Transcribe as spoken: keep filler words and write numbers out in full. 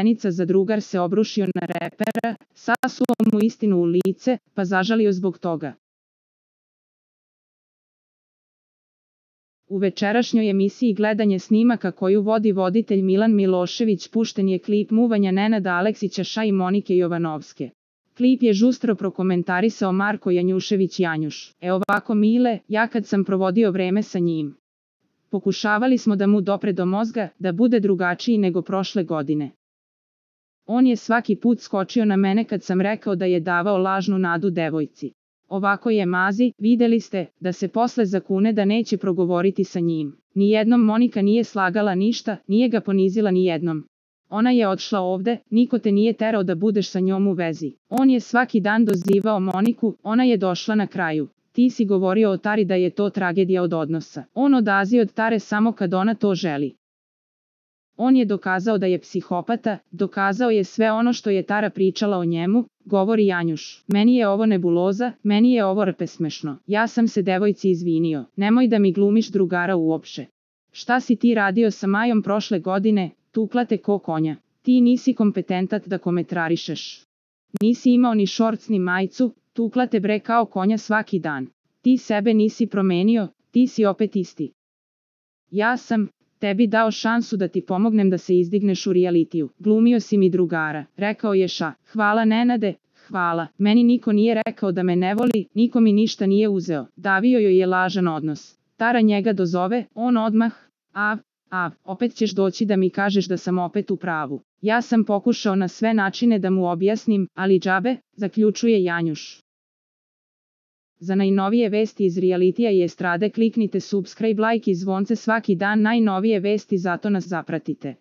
stepenica zadrugar se obrušio na repera, sasuo mu istinu u lice, pa zažalio zbog toga. U večerašnjoj emisiji Gledanje snimaka koju vodi voditelj Milan Milošević pušten je klip muvanja Nenada Aleksića i Monike Jovanovske. Klip je žustro prokomentarisao Marko Janjušević Janjuš. E ovako Mile, ja kad sam provodio vreme sa njim. Pokušavali smo da mu dopre do mozga, da bude drugačiji nego prošle godine. On je svaki put skočio na mene kad sam rekao da je davao lažnu nadu devojci. Ovako je mazi, videli ste, da se posle zakune da neće progovoriti sa njim. Nijednom Monika nije slagala ništa, nije ga ponizila nijednom. Ona je odšla ovde, niko te nije terao da budeš sa njom u vezi. On je svaki dan dozivao Moniku, ona je došla na kraju. Ti si govorio o Tari da je to tragedija od odnosa. On odazi od Tare samo kad ona to želi. On je dokazao da je psihopata, dokazao je sve ono što je Tara pričala o njemu, govori Janjuš. Meni je ovo nebuloza, meni je ovo rpesmešno. Ja sam se devojci izvinio, nemoj da mi glumiš drugara uopšte. Šta si ti radio sa Majom prošle godine, tukla te ko konja. Ti nisi kompetentat da komentarišeš. Nisi imao ni šorc ni majicu, tukla te bre kao konja svaki dan. Ti sebe nisi promenio, ti si opet isti. Ja sam tebi dao šansu da ti pomognem da se izdigneš u realitiju. Glumio si mi drugara, rekao je Ša. Hvala Nenade, hvala. Meni niko nije rekao da me ne voli, niko mi ništa nije uzeo. Davio joj je lažan odnos. Tara njega dozove, on odmah, av, av, opet ćeš doći da mi kažeš da sam opet u pravu. Ja sam pokušao na sve načine da mu objasnim, ali džabe, zaključuje Janjuš. Za najnovije vesti iz realitija i estrade kliknite subscribe, like i zvonce svaki dan najnovije vesti, zato nas zapratite.